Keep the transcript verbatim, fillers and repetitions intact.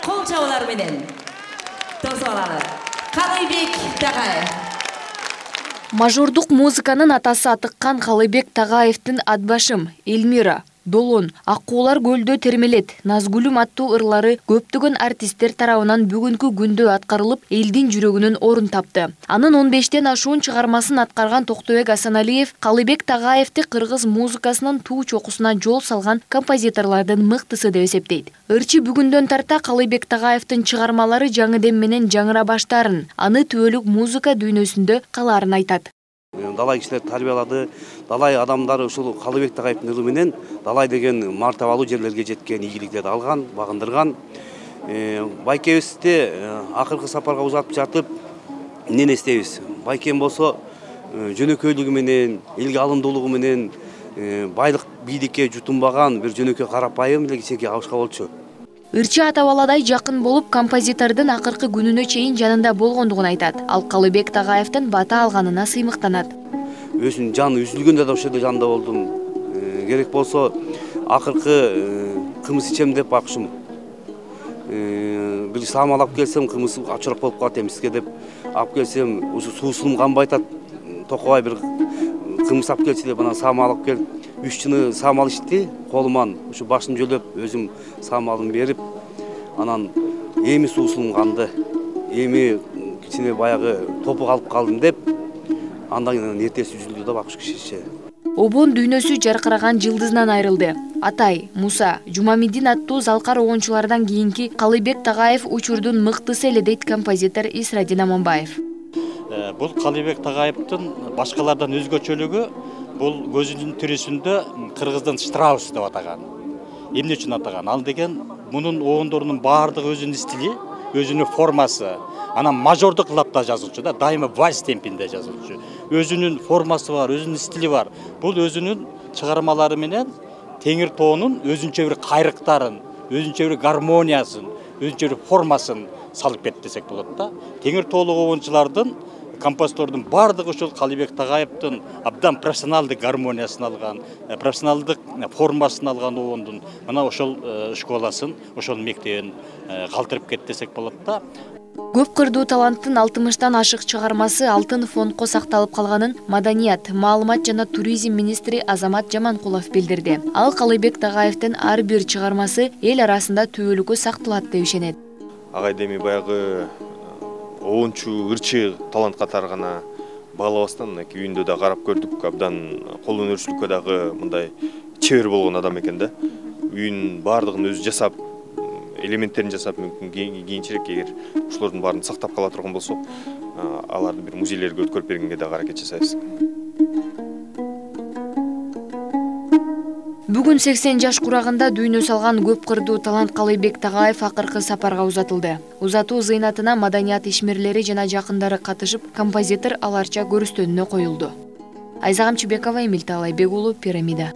кол чабуулар менен тосуп алалы. Калыбек Тагаев. Мажордук музыканын атасы атыккан Калыбек Тагаевдин Атбашым, Элмира, Долон, Аккуулар көлдө термелет, Назгүлүм аттуу ырлары көптөгөн артисттер тарабынан бүгүнкү күндө аткарылып, элдин жүрөгүнөн орун тапты. Анын он бештен ашуун чыгармасын аткарган Токтобек Асаналиев Калыбек Тагаевди кыргыз музыкасынын туу чокусуна жол салган композиторлордун мыктысы деп эсептейт. Ырчы бүгүндөн тарта Калыбек Тагаевдин чыгармалары жаңы дем менен жаңыра баштаарын, аны түбөлүк музыка дүйнөсүндө калаарын айтат. Далай кишилер тарбиялады, далай адамдары ушул Калыбек Тагаевдин ылы менен далай деген мартабалуу жерлерге жеткен, ийгиликтерди алган, багындырган. Байкебизди акыркы сапарга узатып жатып, эмнени эстейбиз? Байкем болсо жөнөкөйлүгү менен, элге алымдуулугу менен, байлык бийликке жутунбаган бир жөнөкөй карапайым эле кичинекей абышка болчу. Ырчы ата-баладай жакын болуп, композитордун акыркы күнүнө чейин жанында болгондугун айтат. Ал Калыбек Тагаевдин бата алганына сыймыктанат. Өзүнүн жаны үзүлгөндө да ошол жерде жанында болдум. Керек болсо акыркы кымыз ичем деп бакышым. Бир саамал алып келсем, кымыз ачырак болуп калат эмиске деп алып келсем, ушу суусунум канбай атат. Токобай бир кымыз алып келчи деп анан саамал алып келип, үч жыны саамал ичти, колуман ушу башын жөлөп, өзүм саамалын берип, анан эми суусунум канды, эми кичине баягы топук алып калдым деп, андан кийин эртеси үзүлдү да бакыш кишиче. Обон дүйнөсү жаркыраган жылдызынан айрылды. Атай, Муса, Жумамидин аттуу залкар оончулардан кийинки Калыбек Тагаев учурдун мыктысы эле дейт композитор Исрадин Аманбаев. Бул Калыбек Тагаевдин башкалардан өзгөчөлүгү бул көзүнүн тирисинде кыргыздын Штраус деп атаган. Эмне үчүн атаган? Ал деген мунун оондорунун баардыгы өзүнүн стили, өзүнүн формасы. Анан мажордук лапта жазылчу да, дайыма вальс темпинде жазылчу. Өзүнүн формасы бар, өзүнүн стили бар. Бул өзүнүн чыгармалары менен теңир тоонун өзүнчө бир кайрыктарын, өзүнчө бир гармониясын, өзүнчө бир формасын салып кетти десек болот да. Теңир тоолук оончулардын, композитордун бардыгы ушул Калыбек Тагаевдин абдан профессионалдык гармониясын алган, профессионалдык формасын алган оондун мына ошол школасын, ошол мектебин калтырып кетти десек болот да. Көп кырдуу таланттын алтымыштан ашык чыгармасы алтын фондко сакталып калганын Маданият, маалымат жана туризм министри Азамат Жаманкулов билдирди. Ал Калыбек Тагаевдин ар бир чыгармасы эл арасында түбөлүккө сакталат деп ишенет. Агай деми баягы оончу, ырчы талант катары гана баалабастан мынакей үйүндө да карап көрдүк, абдан кол өнөрчүлүккө дагы мындай чебер болгон адам экен да. Үйүнүн баардыгын өзү жасап, элементтерин жасап, мүмкүн кийинчерээк эгер ушулордун баарын сактап кала турган болсок, аларды бир музейлерге өткөрүп бергенге да аракет жасайбыз. Бүгүн сексен жаш курагында дүйнө салган көп кырдуу талант Калыбек Тагаев акыркы сапарга узатылды. Узатуу зыйнатына маданият ишмерлери жана жакындары катышып, композитор аларча көрүстөнүнө коюлду. Айзагам Чебекова, Эмилтай Алайбек уулу, Пирамида.